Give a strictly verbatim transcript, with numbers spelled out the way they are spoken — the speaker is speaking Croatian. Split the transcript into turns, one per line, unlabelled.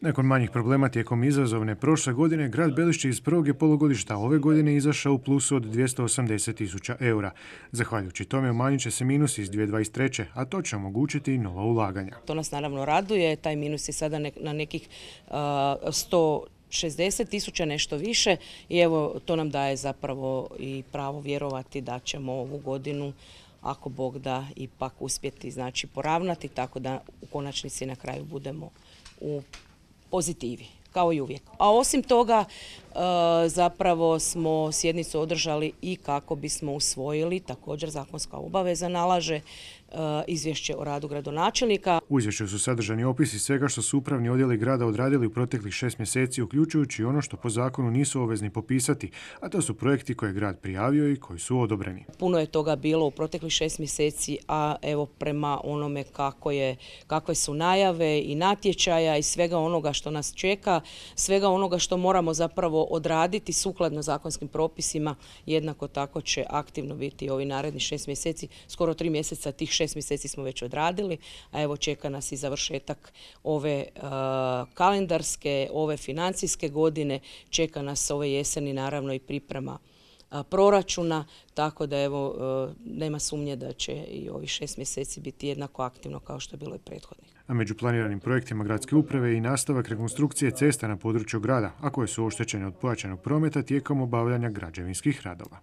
Nakon manjih problema tijekom izazovne prošle godine, grad Belišće iz prvog je polugodišta ove godine izašao u plusu od dvjesto osamdeset tisuća eura. Zahvaljujući tome umanjit će se minus iz dvije tisuće dvadeset treće, a to će omogućiti i nova ulaganja.
To nas naravno raduje, taj minus je sada na nekih uh, sto šezdeset tisuća, nešto više, i evo to nam daje zapravo i pravo vjerovati da ćemo ovu godinu, ako Bog da, ipak uspjeti znači poravnati, tako da u konačnici na kraju budemo u pozitivi, kao i uvijek. A osim toga, zapravo smo sjednicu održali i kako bismo usvojili, također zakonska obaveza nalaže, izvješće o radu gradonačelnika.
U izvješću su sadržani opisi svega što su upravni odjeli grada odradili u proteklih šest mjeseci, uključujući ono što po zakonu nisu obvezni popisati, a to su projekti koje je grad prijavio i koji su odobreni.
Puno je toga bilo u proteklih šest mjeseci, a evo prema onome kako je, kakve su najave i natječaja i svega onoga što nas čeka, svega onoga što moramo zapravo odraditi sukladno zakonskim propisima, jednako tako će aktivno biti ovi naredni šest mjeseci, skoro tri mjeseca tih šest mjeseci smo već odradili, a evo čeka nas i završetak ove uh, kalendarske, ove financijske godine, čeka nas ove jeseni naravno i priprema uh, proračuna, tako da evo uh, nema sumnje da će i ovih šest mjeseci biti jednako aktivno kao što je bilo i prethodnih.
A među planiranim projektima gradske uprave je i nastavak rekonstrukcije cesta na području grada, a koje su oštećene od pojačanog prometa tijekom obavljanja građevinskih radova.